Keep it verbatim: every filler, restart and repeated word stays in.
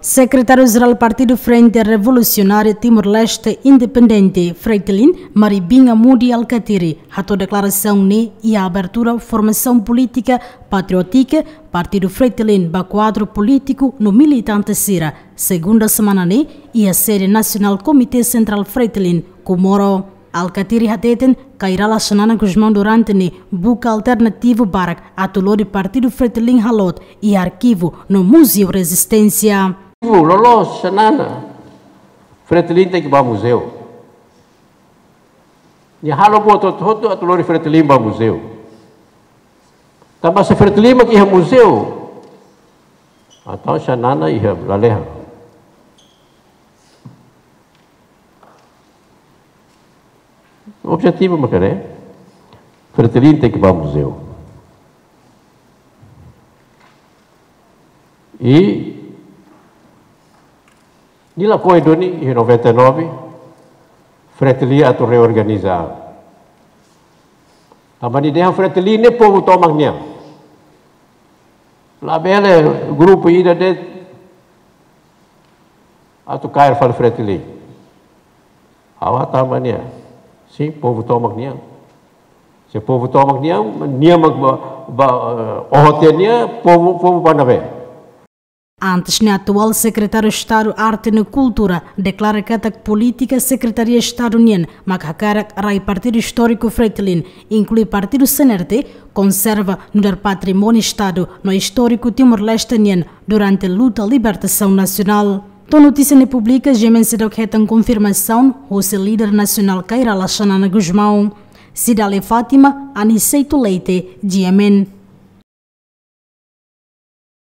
Sekretáriu-Jerál Partidu Frente Revolusionária Timor-Leste Independente, Fretilin, Maribinha Mudi Alkatiri, hato'o deklarasaun ne'e iha abertura formasaun polítika patriótika Partidu Fretilin ba kuadru polítiku no militante sira, segunda semana ne'e, iha sede nasionál Komité Sentrál Fretilin, Comoro. Alkatiri hateten, Kay Rala Xanana Gusmão durante ne'e buka alternativu barak atu lori Partidu Fretilin haloot iha arkivu no Muzeu Rezisténsia. Loloos Xanana, Fretilin tenke ba muzeu. Nia halo buat hotu-hotu atu lori Fretilin ba muzeu. Tanba se Fretilin mak iha muzeu, entaun Xanana iha lalehan. Objetivu mak ne'e, Fretilin tenke ba muzeu. I nia lakohi duni iha noventa e nove, Fretilin atu reorganiza. Tanba nia dehan Fretilin ne'e povu tomak nian. Labele grupu ida de'it atu kaer fali Fretilin. Ha'u hatán ba nia, sin, povu tomak nian. Se povu tomak nian, nia mak ba, ba, eh, oho tiha nia, povu, povu ba ne'ebé? Antes ne'e, atuál Sekretáriu Estadu Arte no Kultura deklara katak polítika Sekretaria Estadu nian mak hakarak rai partidu istóriku Fretilin, inklui partidu C N R T, konserva nu'udar patrimóniu Estadu no istóriku Timor-Leste nian durante luta libertasaun nasionál. To'o notísia ne'e publika, G M N seidauk hetan konfirmasaun husi líder nasionál Kay Rala Xanana Gusmão. Cidália Fátima, Aniceto Leite, G M N.